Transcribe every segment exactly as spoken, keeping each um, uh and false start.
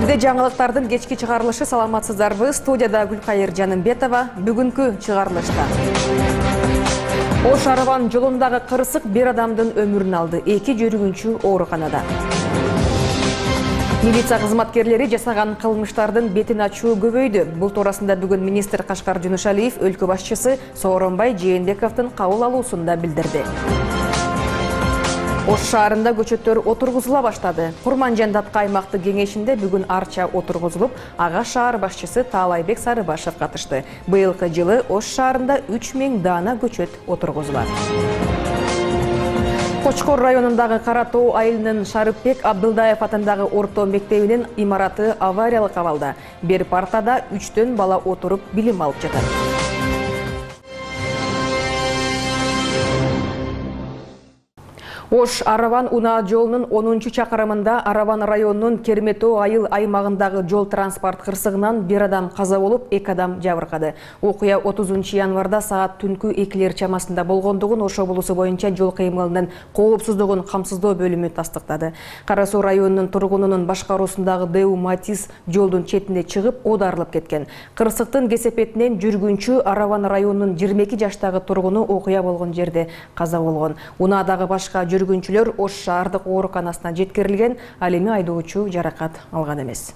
Эфирде жаңылыктардын кечки чыгарылышы, саламатсыздарбы? Студияда Гүлкайыр Жанымбетова. Бүгүнкү чыгарылышта Ош Араван жолундагы кырсык бир адамдын өмүрүн алды. Эки жүргүнчү ооруканада. Милиция кызматкерлери жасаган кылмыштардын бетин ачуу көбөйдү. Бул туурасында бүгүн министр Кашкар Жунушалиев өлкө башчысы Сооронбай Жээнбековдун кабыл алуусунда билдирди. Ош шаарында көчөттөр отургузула баштады. Курманжандатка аймактык кеңешинде бүгүн арча отургузулуп, ага шаар башчысы Таалайбек Сарыбашев катышты. Быйылкы жылы Ош шаарында үч миң даана көчөт отургузулат. Кочкор районундагы Кара Тоо айылынын Шарыпбек Абдылдаев атындагы орто мектебинин имараты авариялык абалда. Бир партада үчтөн бала отуруп билим алып жатат. Ош Араван Унаа жолунун онунчу чакырымында Араван районунун Керметоо айыл аймагындагы жол транспорт кырсыгынан бир адам каза болуп, эки адам жабыркады. Окуя отузунчу январда саат түнкү экилер чамасында болгондугун Ош облусу боюнча жол кыймылынын коопсуздугун камсыздоо бөлүмү тастыктады. Кара Суу районунун тургунунун башкаруусундагы Дэу Матис жолдун четине чыгып, оодарылып кеткен. Кырсыктын кесепетинен жүргүнчү Араван районунун жыйырма эки жаштагы тургуну окуя болгон жерде каза болгон. Унаадагы башка жүргүнчүлөр Ош шаардык ооруканасына жеткирилген, ал эми айдоочу жаракат алган эмес.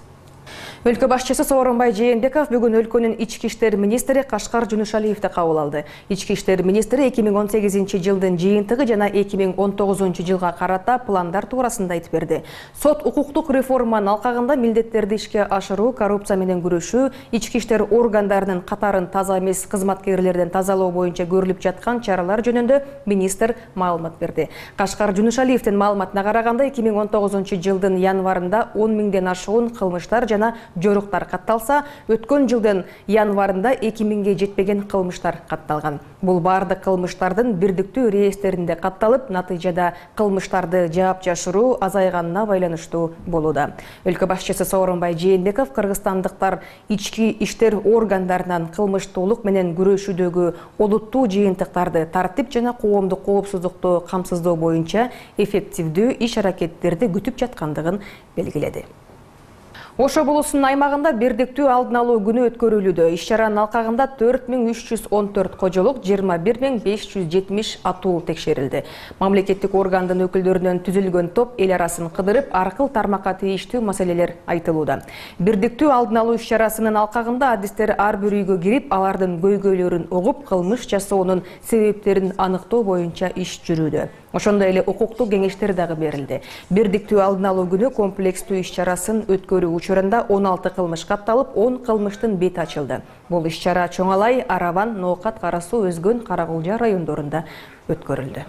Өлкө башчысы Сооронбай Жээнбеков бүгүн өлкөнүн ички иштер министри Кашкар Жунушалиевди кабыл алды. Ички иштер министри эки миң он сегизинчи жылдын жыйынтыгы жана эки миң он тогузунчу жылга карата пландар туурасында айтып берди. Сот укуктук реформанын алкагында милдеттерди ишке ашыруу, коррупция менен күрөшүү, ички иштер органдарынын катарын таза эмес кызматкерлерден тазалоо боюнча көрүлүп жаткан чаралар жөнүндө министр маалымат берди. Кашкар Жунушалиевдин маалыматына караганда эки миң он тогузунчу жылдын январында он миңден ашуун кылмыштар жана жоруктар катталса, өткөн жылдын январында эки миңге жетпеген кылмыштар катталган. Бул бардык кылмыштардын бирдиктүү реестринде катталып, натыйжада кылмыштарды жаап жашыруу азайганына байланыштуу болууда. Өлкө башчысы Сооронбай Жээнбеков кыргызстандыктар ички иштер органдарынан кылмыштуулук менен күрөшүүдөгү олуттуу жыйынтыктарды, тартип жана коомдук коопсуздукту камсыздоо боюнча эффективдүү иш-аракеттерди күтүп жаткандыгын белгиледи. Ош облусунун аймагында бирдиктүү алдын алуу күнү өткөрүлүүдө. Иш-чаранын алкагында төрт миң үч жүз он төрт кожолук, жыйырма бир миң беш жүз жетимиш атуу текшерилди. Мамлекеттик органдын өкүлдөрүнөн түзүлгөн топ эл арасын кыдырып, аркыл тармакка тийиштүү маселелер айтылууда. Бирдиктүү алдын алуу иш-чарасынын алкагында адистер ар бир үйгө кирип, алардын көйгөйлөрүн угуп, кылмыш жасоонун себептерин аныктоо боюнча иш жүрүүдө. Ошондой эле укуктук кеңештер дагы берилди. Бирдиктүү алдын алуу күнү комплекстүү иш-чарасын өткөрүү учурунда он алты кылмыш катталып, он кылмыштын бети ачылды. Бул иш-чара Чоңалай, Араван, Ноокат, Кара Суу, Өзгөн, Каракулжа райондорунда өткөрүлдү.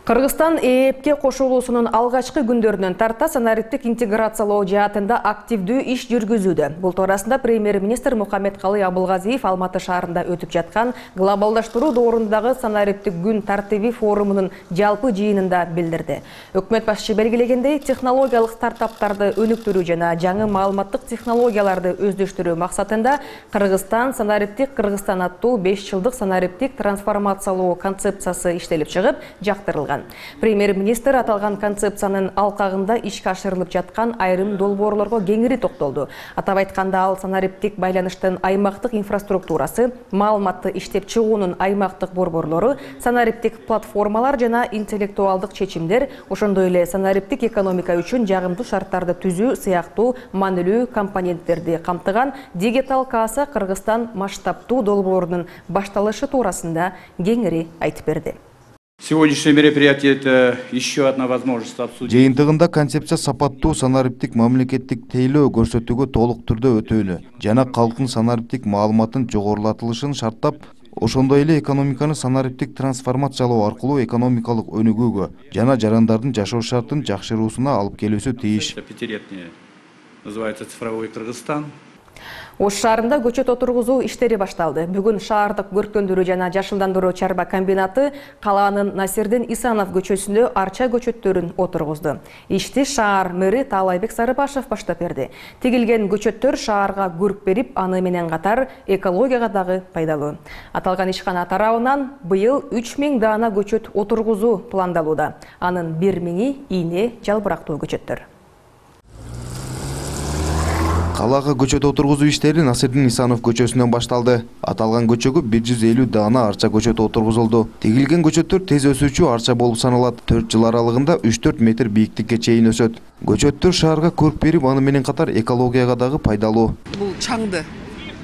Кыргызстан ЭЭПке кошулуусунун алгачкы күндөрүнөн тарта санариптик интеграциялоо жаатында активдүү иш жүргүзүүдө. Бул туурасында премьер-министр Мухаммедкалый Абылгазиев Алматы шаарында өтүп жаткан глобалдаштыруу доорундагы санариптик күн тартиби форумунун жалпы жыйынында билдирди. Өкмөт башчы белгилегендей, технологиялык стартаптарды өнүктүрүү жана жаңы маалыматтык технологияларды өздөштүрүү максатында Кыргызстан санариптик Кыргызстан аттуу беш жылдык санариптик трансформациялоо концепциясы иштелип чыгып, жактырылган. Премьер-министр аталган концепциянын алкагында ишке ашырылып жаткан айрым долбоорлорго кеңири токтолду. Атап айтканда, ал санариптик байланыштын аймактык инфраструктурасы, маалыматты иштеп чыгуунун аймактык борборлору, санариптик платформалар жана интеллектуалдык чечимдер, ошондой эле санариптик экономика үчүн жагымдуу шарттарды түзүү сыяктуу маанилүү компоненттерди камтыган Дигитал Каса Кыргызстан масштабтуу долбоорунун башталышы туурасында кеңири айтып берди. Сегодняшнее мероприятие – это еще одна возможность обсудить. Жыйынтыгында концепция сапаттуу санариптик мамлекеттик тейлөө көрсөтүүгө толук түрдө өтөлү жана калктын санариптик маалыматын жогорулатылышын шарттап, ошондой эле экономиканы санариптик трансформациялоо аркылуу экономикалык өнүгүүгө жана жарандардын жашоо шартын жакшыруусуна алып келүүсү тийиш. Пятилетняя называется «Цифровой Кыргызстан». Ош шаарында көчөт отургузуу иштери башталды. Бүгүн шаардык көрктөндүрүү жана жашылдандыруу чарба комбинаты калаанын Насирдин Исанов көчөсүндө арча көчөттөрүн отургузду. Ишти шаар мэри Таалайбек Сарыбашев баштап берди. Тигилген көчөттөр шаарга көрк берип, аны менен катар экологияга дагы пайдалуу. Аталган ишкана тарабынан быйыл үч миң даана көчөт отургузуу пландалууда. Анын бир миңи ийне жалбырактуу көчөттөр. Калаага көчөт отургузуу иштери Насирдин Исанов көчөсүнөн башталды. Аталган көчөгө бир жүз элүү даана арча көчөт отургузулду. Тигилген көчөттөр тез өсүүчү арча болуп саналат. төрт жыл аралыгында үч төрт метр бийиктикке чейин өсөт. Көчөттөр шаарга көрк берип, аны менен катар экологияга дагы пайдалуу. Бул чаңды,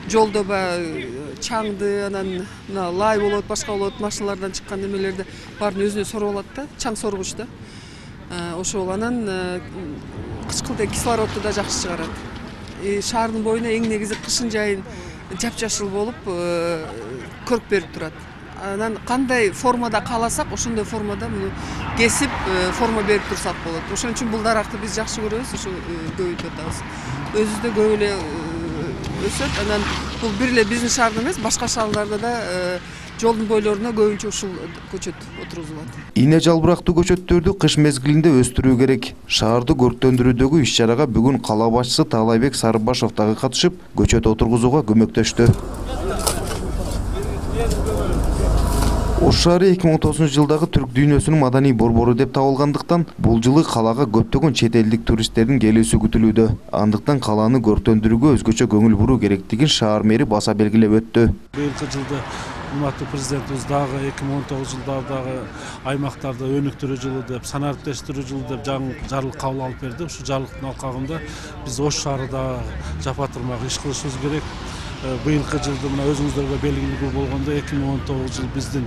жолдо баягы чаңды, анан мына лай болот, башка болот, машиналардан чыккан немелерди баарын өзүнө соруп алат да, чаң соргуч да. Ошол анан кычкылтек кислородду да жакшы чыгарат. Шаардын боюна эң негизи кышын жайын жапжашыл болуп көрк берип турат. Анан кандай формада кааласак, ошондой формада муну кесип форма берип турсак болот. Ошон үчүн бул даракты биз жакшы көрөбүз, ошо көбөйтүп атабыз. Өзүбүздө көп эле өсөт. Анан бул бир эле биздин шаарда эмес, башка шаарларда да жолдун бойлоруна көбүнчө ушул көчөт отургузулат. Ийне жалбырактуу көчөттөрдү кыш мезгилинде өстүрүү керек. Шаарды көрктөндүрүүдөгү иш-чарага бүгүн кала башчысы Таалайбек Сарыбашев дагы катышып, көчөт отургузууга көмөктөштү. Ош шаары эки миң он тогузунчу жылдагы түрк дүйнөсүнүн маданий борбору деп табылгандыктан, бул жылы калаага көптөгөн чет элдик туристтердин келүүсү күтүлүүдө. Андыктан калааны көрктөндүрүүгө өзгөчө көңүл буруу керектигин шаар мэри баса белгилеп өттү. Быйылкы жылда урматтуу президентибиз дагы эки миң он тогузунчу жылдардагы аймактарды өнүктүрүү жылы деп, санариптештирүү жылы деп жарлык кабыл алып берди. Ушу жарлыктын алкагында биз Ош шаарында жапатырмак иш кылышыбыз керек. Быйылкы жылды мына өзүңүздөргө белгилүү болгондо эки миң он тогузунчу жыл биздин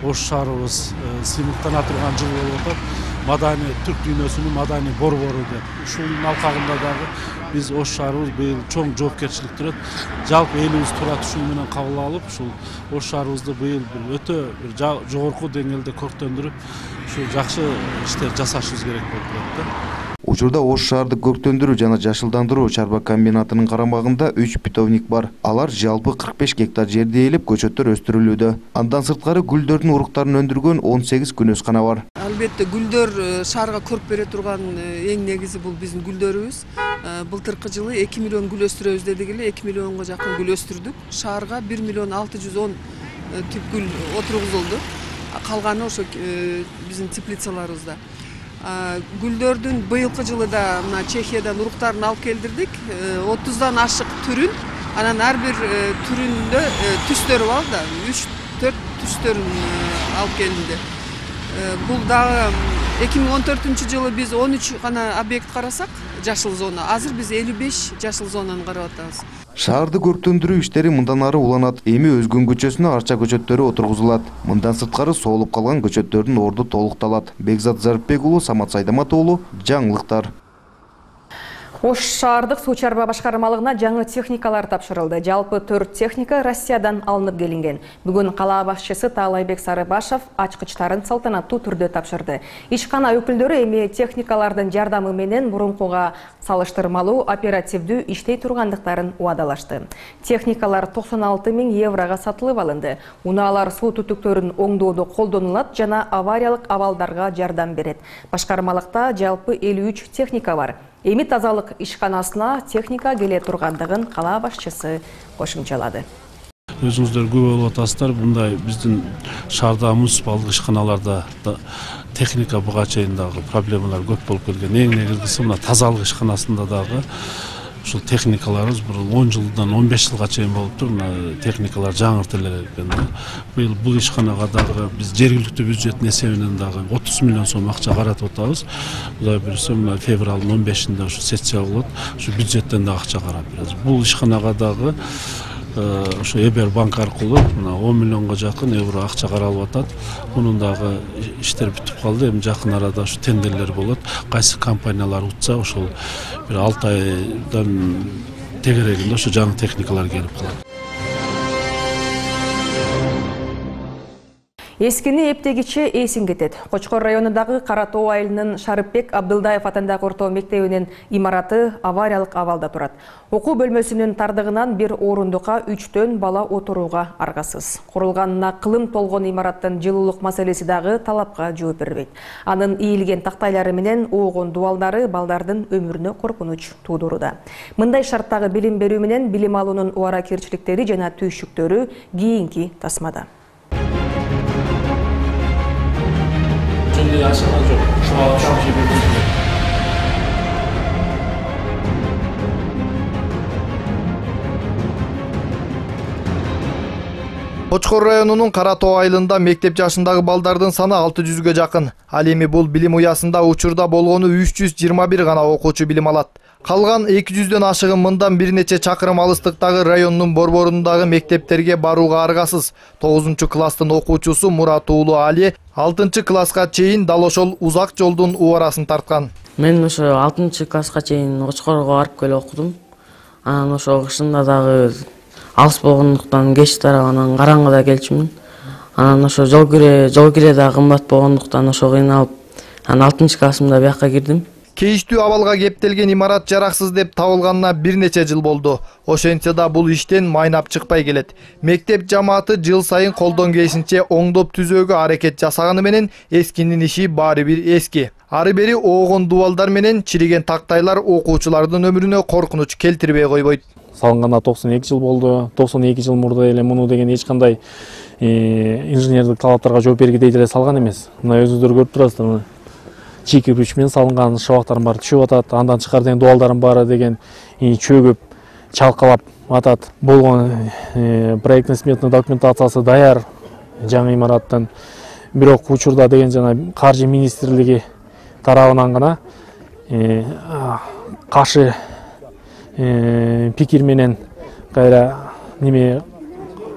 Ош шаарыбыз сыймыктана турган жыл болуп атат. Маданий түрк дүйнөсүнүн маданий борбору деп. Ушунун алкагында дагы биз Ош шаарыбыз быйыл чоң жоопкерчилик турат. Жалпы элибиз турат ушун менен кабыл алып, ушул Ош шаарыбызды быйыл бир өтө бир жогорку деңгээлде көрктөндүрүп, ушу жакшы иштер жасашыбыз керек болуп турат да. Учурда Ош шаардык көрктөндүрүү жана жашылдандыруу чарба комбинатынын карамагында үч питомник бар. Алар жалпы кырк беш гектар жерди ээлеп көчөттөр өстүрүлүүдө. Андан сырткары гүлдөрдүн уруктарын өндүргөн он сегиз күнөскана бар. Албетте гүлдөр шаарга көрк бере турган эң негизи бул биздин гүлдөрүбүз. Былтыркы жылы эки миллион гүл өстүрөбүз дедик эле, эки миллионго жакын гүл өстүрдүк. Шаарга бир миллион алты жүз он тип гүл отургузулду. Калганы ошо биздин теплицаларыбызда. Гүлдөрдүн быйылкы жылы да мына Чехиядан уруктарын алып келдирдик. отуздан ашык түрүн, анан ар бир түрүндө түстөрү бар да, үч төрт түстөрүн алып келинди. Бул дагы эки миң он төртүнчү жылы биз он үч гана объект карасак, жашыл зона. Азыр биз элүү беш жашыл зонаны карап атабыз. Шаарды көрктөндүрүү иштери мындан ары уланат. Эми Өзгөн көчөсүнө арча көчөттөрү отургузулат. Мындан сырткары соолуп калган көчөттөрдүн орду толукталат. Бекзат Зарипбек уулу, Самат Сайдамат уулу, жаңылыктар. Ош шаардык суу чарба башкармалыгына жаңы техникалар тапшырылды. Жалпы төрт техника Россиядан алынып келинген. Бүгүн кала башчысы Таалайбек Сарыбашев ачкычтарын салтанаттуу түрдө тапшырды. Ишкана өкүлдөрү эми техникалардын жардамы менен мурункуга салыштырмалуу оперативдүү иштей тургандыктарын убадалашты. Техникалар токсон алты миң еврого сатылып алынды. Унаалар суу түтүктөрүн оңдоодо колдонулат жана авариялык абалдарга жардам берет. Башкармалыкта жалпы элүү үч техника бар. Эми тазалык ишканасына техника келе тургандыгын кала башчысы кошумчалады. Өзүңүздөр көп болуп атасыздар, мындай биздин шаарда муниципалдык ишканаларда техника буга чейин дагы проблемалар көп болуп келген. Эң негизгиси мына тазалык ишканасында дагы ушул техникаларыбыз бир он жылдан он беш жылга чейин болуптур. Мына техникалар жаңыртылар экен. Быйыл бул ишканага дагы биз жергиликтүү бюджеттин эсебинен дагы отуз миллион сом акча каратып атабыз. Кудай буюрса мына февралдын он бешинде ушу сессия болот. Ушу бюджеттен дагы акча карап беребиз. Бул ишканага дагы ошо Эбер банк аркылуу мына он миллионго жакын евро акча каралып атат. Мунун дагы иштер бүтүп калды. Эми жакын арада ушу тендерлер болот. Кайсы компаниялар утса ошол бир алты айдан тегерегинде ошо жаңы техникалар келип калат. Эскини эптегичи эсин кетет. Кочкор районундагы Кара Тоо айылынын Шарыпбек Абдылдаев атындагы орто мектебинин имараты авариялык абалда турат. Окуу бөлмөсүнүн тардыгынан бир орундукка үчтөн бала отурууга аргасыз. Курулганына кылым толгон имараттын жылуулук маселеси дагы талапка жооп бербейт. Анын ийилген тактайлары менен оогон дубалдары балдардын өмүрүнө коркунуч туудуруда. Мындай шарттагы билим берүү менен билим алуунун убаракерчиликтери жана түйшүктөрү кийинки тасмада. Кочкор районунун Кара Тоо айылында мектеп жашындагы балдардын саны алты жүзгө жакын. Ал эми бул билим уясында учурда болгону үч жүз жыйырма бир гана окуучу билим алат. Калган эки жүздөн ашыгын мындан бир нече чакырым алыстыктагы райондун борборундагы мектептерге барууга аргасыз. тогузунчу класстын окуучусу Мурат уулу Али алтынчы класска чейин дал ошол узак жолдун убарасын тарткан. Мен ошо алтынчы класска чейин Кочкорго барып келип окудум. Анан ошо кышында дагы алыс болгондуктан кеч тарабынан караңгыда келчүмүн. Анан ошо жол кире, жол кире да кымбат болгондуктан ошо кыйналып, анан алтынчы классымда бияка кирдим. Кейиштүү абалга кептелген имарат жараксыз деп табылганына бир нече жыл болду. Ошентсе да бул иштен майнап чыкпай келет. Мектеп жамааты жыл сайын колдон келишинче оңдоп түзөөгө аракет жасаганы менен эскинин иши баары бир эски. Ары бери оогон дубалдар менен чириген тактайлар окуучулардын өмүрүнө коркунуч келтирбей койбойт. Салынганда токсон эки жыл болду. токсон эки жыл мурда эле муну деген эч кандай инженердик талаптарга жооп бергидей деле салган эмес. Мына өзүңүздөр көрүп турасыздар. Чийки кирпич менен салынган шабактардын баары түшүп атат. Андан тышкары деген дубалдардын баары деген чөгүп, чалкалап атат. Болгон проектный сметный документациясы даяр жаңы имараттын. Бирок учурда деген жана каржы министрлиги тарабынан гана каршы пикир менен кайра неме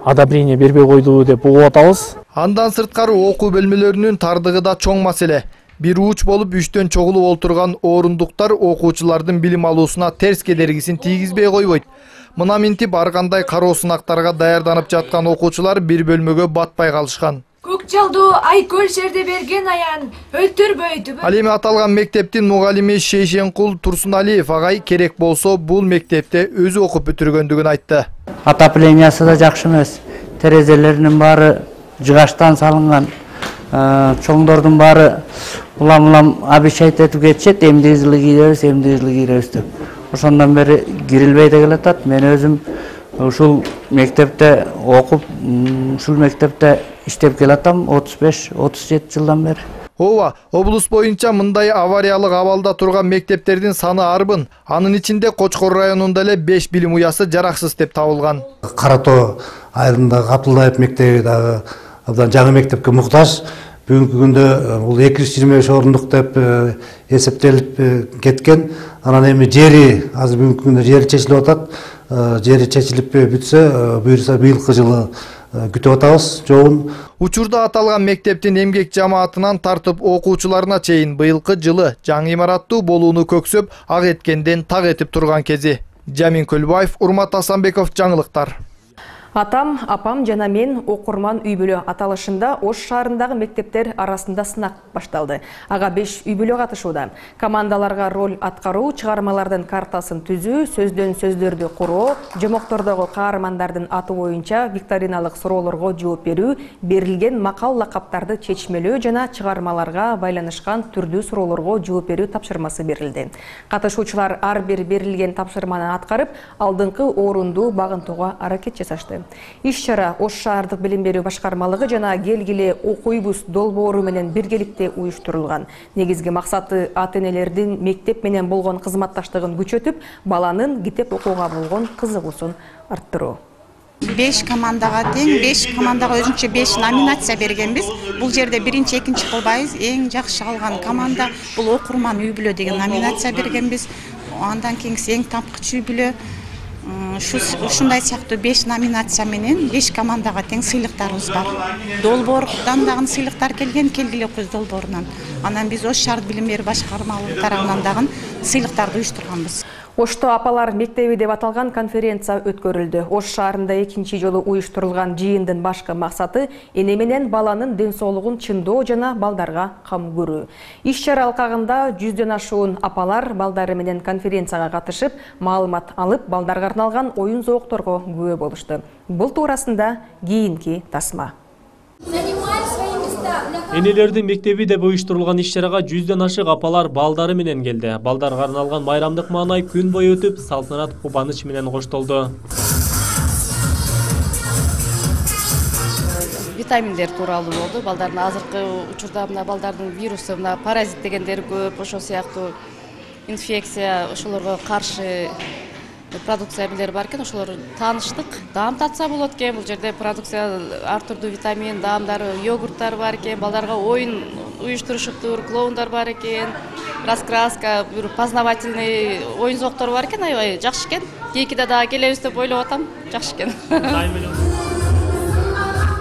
одобрение бербей койду деп угуп атабыз. Андан сырткары окуу бөлмөлөрүнүн тардыгы да чоң маселе. Бир уч болуп үчтөн чогулуп отурган орундуктар окуучулардын билим алуусуна терс кедергисин тийгизбей койбойт. Мына минтип ар кандай кароо сынактарга даярданып жаткан окуучулар бир бөлмөгө батпай калышкан. Көк жалдуу Айкөл шерде берген аян өлтүрбөйдү. Ал эми аталган мектептин мугалими Шейшенкул Турсуналиев агай керек болсо бул мектепте өзү окуп бүтүргөндүгүн айтты. Отоплениясы да жакшы эмес. Терезелеринин баары жыгачтан салынган. Чоңдордун баары улам-улам обещать этип кетишет, эмди жылы кийребиз, эмди жылы кийребиз деп. Ошондон бери кирилбей да келатат. Мен өзүм ушул мектепте окуп, ушул мектепте иштеп келатам отуз беш отуз жети жылдан бери. Ооба, облус боюнча мындай авариялык абалда турган мектептердин саны арбын. Анын ичинде Кочкор районунда эле беш билим уясы жараксыз деп табылган. Кара Тоо айылындагы Абдылдаев мектеби дагы абдан жаңы мектепке муктаж. Бүгүнкү күндө бул эки жүз жыйырма беш орундук деп эсептелип кеткен. Анан эми жери азыр бүгүнкү күндө жери чечилип атат. Жери чечилип бүтсө, буюрса быйылкы жылы күтүп атабыз жообун. Учурда аталган мектептин эмгек жамаатынан тартып окуучуларына чейин быйылкы жылы жаңы имараттуу болууну көксөп, ак эткенден так этип турган кези. Жамин Көлбаев, Урмат Асанбеков, жаңылыктар. Атам, апам жана мен окурман үй бүлө аталышында Ош шаарындагы мектептер арасында сынак башталды. Ага беш үй бүлө катышууда. Командаларга роль аткаруу, чыгармалардын картасын түзүү, сөздөн сөздөрдү куруу, жомоктордогу каармандардын аты боюнча викториналык суроолорго жооп берүү, берилген макал лакаптарды чечмелөө жана чыгармаларга байланышкан түрдүү суроолорго жооп берүү тапшырмасы берилди. Катышуучулар ар бир берилген тапшырманы аткарып, алдыңкы орунду багынтууга аракет жасашты. Иш-чара Ош шаардык билим берүү башкармалыгы жана келгиле окуйбуз долбоору менен биргеликте уюштурулган. Негизги максаты ата-энелердин мектеп менен болгон кызматташтыгын күчөтүп, баланын китеп окууга болгон кызыгуусун арттыруу. беш командага тең, беш командага өзүнчө беш номинация бергенбиз. Бул жерде биринчи, экинчи кылбайбыз. Эң жакшы алган команда бул окурман үй бүлө деген номинация бергенбиз. Андан кийинкиси эң тапкыч үй бүлө. Ушундай сыяктуу беш номинация менен беш командага тең сыйлыктарыбыз бар. Долбоордан дагы сыйлыктар келген, келгиле окуйбуз долбоорунан. Анан биз Ош шаар билим берүү башкармалыгы тарабынан дагы сыйлыктарды уюштурганбыз. Ошто апалар мектеби деп аталган конференция өткөрүлдү. Ош шаарында экинчи жолу уюштурулган жыйындын башкы максаты эне менен баланын ден соолугун чыңдоо жана балдарга кам көрүү. Иш-чара алкагында жүздөн ашуун апалар балдары менен конференцияга катышып, маалымат алып, балдарга арналган оюн зоокторго күбө болушту. Бул туурасында кийинки тасма. Энелердин мектеби деп уюштурулган иш-чарага жүздөн ашык апалар балдары менен келди. Балдарга арналган майрамдык маанай күн бою өтүп, салтанат кубаныч менен коштолду. Витаминдер тууралуу болду. Балдардын азыркы учурда мына балдардын вирусу, мына паразит дегендер көп, ошол сыяктуу инфекция, ошолорго каршы продукция билер бар экен, ошолор тааныштык. Даам татса болот экен, бул жерде продукция ар түрдүү витамин, даамдар, йогурттар бар экен, балдарга оюн уюштурушуптур, клоундар бар экен, раскраска, бир познавательный оюн зооктор бар экен, аябай жакшы экен. Кийинкиде дагы келебиз деп ойлоп атам, жакшы экен.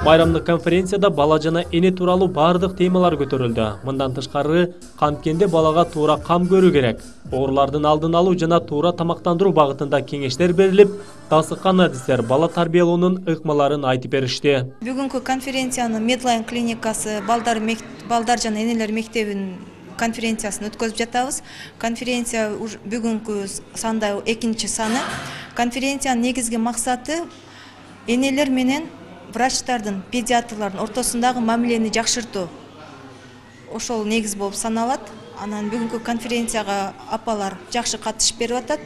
Майрамдык конференцияда бала жана эне тууралуу бардык темалар көтөрүлдү. Мындан тышкары, канткенде балага туура кам көрүү керек, оорулардын алдын алуу жана туура тамактандыруу багытында кеңештер берилип, тасыккан адистер бала тарбиялоонун ыкмаларын айтып беришти. Бүгүнкү конференциянын Медлайн клиникасы балдар балдар жана энелер мектебинин конференциясын өткөзүп жатабыз. Конференция бүгүнкү санда экинчи саны. Конференциянын негизги максаты энелер менен врачтардын, педиатрлардын ортосундагы мамилени жакшыртуу. Ошол негиз болуп саналат. Анан бүгүнкү конференцияга апалар жакшы катышып берип атат.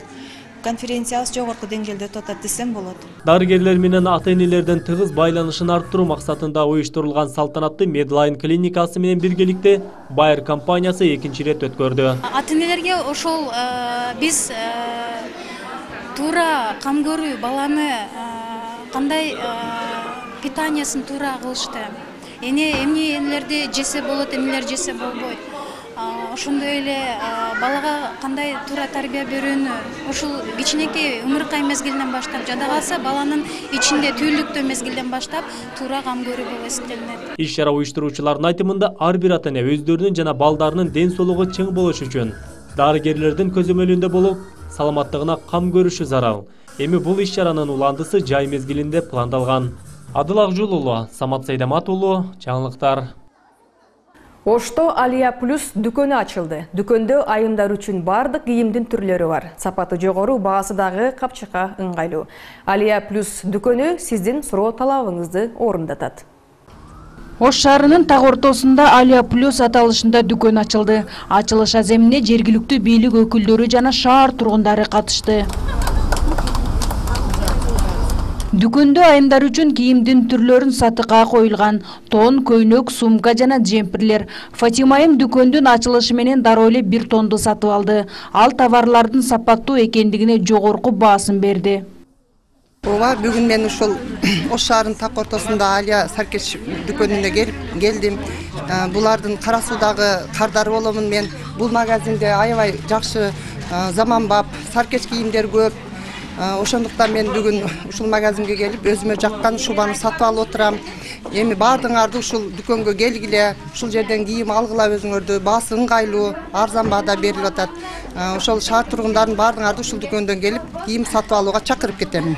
Конференциябыз жогорку деңгээлде өтүп атат десем болот. Дарыгерлер менен ата-энелердин тыгыз байланышын арттыруу максатында уюштурулган салтанатты Медлайн клиникасы менен биргеликте Байер компаниясы экинчи ирет өткөрдү. Ата-энелерге ошол биз туура кам көрүү, баланы кандай питаниясын туура кылышты. Эне эмне энелерди жесе болот, эмнелер жесе болбойт. Ошондой эле балага кандай туура тарбия берүүнү, ушул кичинекей умуркай мезгилинен баштап, жада калса баланын ичинде түүлүктөө мезгилден баштап туура кам көрүү болуп эсептелинет. Иш-чара уюштуруучулардын айтымында ар бир ата-эне өздөрүнүн жана балдарынын ден соолугу чың болуш үчүн дарыгерлердин көзөмөлүндө болуп, саламаттыгына кам көрүшү зарыл. Эми бул иш-чаранын уландысы жай мезгилинде пландалган. Адыл Акжол уулу, Самат Сайдамат уулу, жаңылыктар. Ошто Алия Плюс дүкөнү ачылды. Дүкөндө айымдар үчүн бардык кийимдин түрлөрү бар. Сапаты жогору, баасы дагы капчыкка ыңгайлуу. Алия Плюс дүкөнү сиздин суроо талабыңызды орундатат. Ош шаарынын так ортосунда Алия Плюс аталышында дүкөн ачылды. Ачылыш аземине жергиликтүү бийлик өкүлдөрү жана шаар тургундары катышты. Дүкөндө айымдар үчүн кийимдин түрлөрүн сатыкка коюлган. Тон, көйнөк, сумка жана джемперлер. Фатима айым дүкөндүн ачылышы менен дароо эле бир тонду сатып алды. Ал товарлардын сапаттуу экендигине жогорку баасын берди. Ооба, бүгүн мен ушул Ош шаарынын так ортосунда Алия Саркеш дүкөнүнө келип келдим. Булардын Кара Суудагы кардары боломун мен. Бул магазинде аябай жакшы заманбап Саркеш кийимдер көп. Ошондуктан мен бүгүн ушул магазинге келип өзүмө жаккан шубаны сатып алып отурам. Эми баардыгыңарды ушул дүкөнгө келгиле, ушул жерден кийим алгыла өзүңөрдү. Баасы ыңгайлуу, арзан баада берилип атат. Ошол шаар тургундарын баардыгыңарды ушул дүкөндөн келип кийим сатып алууга чакырып кетем.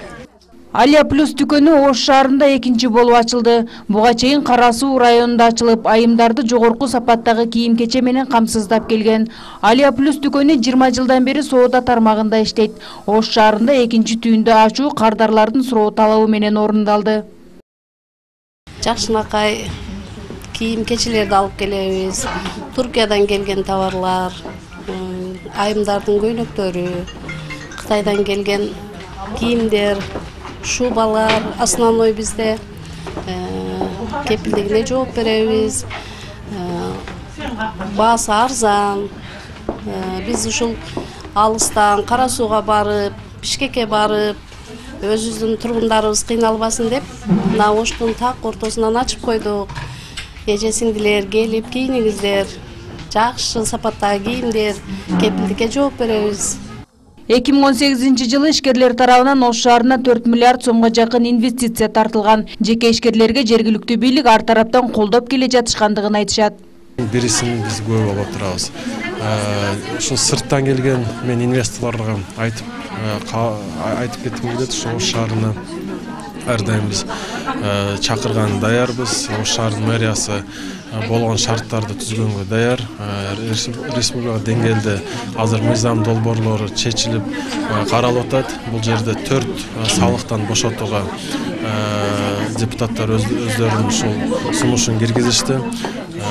Алия Плюс дүкөнү Ош шаарында экинчи болуп ачылды. Буга чейин Кара Суу районунда ачылып, айымдарды жогорку сапаттагы кийим-кече менен камсыздап келген. Алия Плюс дүкөнү жыйырма жылдан бери соода тармагында иштейт. Ош шаарында экинчи түйүндө ачуу кардарлардын суроо талабы менен орундалды. Жакшынакай кийим-кечелерди алып келебиз. Туркиядан келген товарлар, айымдардын көйнөктөрү, Кытайдан келген кийимдер, шубалар, основной бизде кепилдигине жооп беребиз. Баасы арзан. Биз ушул алыстан Кара Сууга барып, Бишкекке барып, өзүбүздүн тургундарыбыз кыйналбасын деп, мына Оштун так ортосунан ачып койдук. Эже сиңдилер келип кийиниңиздер. Жакшы сапаттагы кийимдер, кепилдикке жооп беребиз. эки миң он сегизинчи жылы ишкерлер тарабынан Ош шаарына төрт миллиард сомго жакын инвестиция тартылган. Жеке ишкерлерге жергиликтүү бийлик ар тараптан колдоп келе жатышкандыгын айтышат. Бирисин биз көп алып турабыз. Ушул сырттан келген мен инвесторлорго айтып айтып кетким келет, ошол Ош шаарына ар дайым биз чакырган даярбыз. Ош шаарынын мэриясы болгон шарттарды түзгөнгө даяр. Республика деңгээлде азыр мыйзам долбоорлору чечилип каралып атат. Бул жерде төрт салыктан бошотууга депутаттар өздөрүнүн ушул сунушун киргизишти.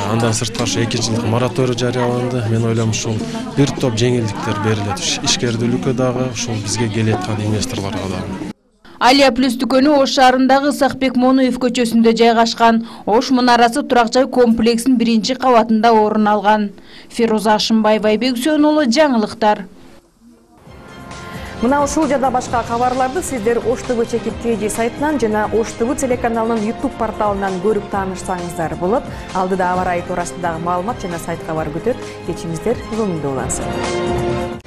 Андан сырткары ушу эки жылдык мораторий жарыяланды. Мен ойлойм ушул бир топ жеңилдиктер берилет. Ишкердүүлүккө дагы, ушул бизге келе аткан инвесторлорго дагы. Алия плюс дүкөнү Ош шаарындагы Исакбек Монуев көчөсүндө жайгашкан. Ош мунарасы турак жай комплексинин биринчи кабатында орун алган. Фируза Ашымбаева, Айбек Үсөнұлы, жаңылыктар. Мына ушул жада башка кабарларды сиздер Ош ТВ чекит кей сайтынан жана Ош ТВ телеканалынын YouTube порталынан көрүп таанышсаңыздар болот. Алдыда аба ырайы туурасындагы маалымат жана сайт кабар күтөт. Кечиңиздер улансын.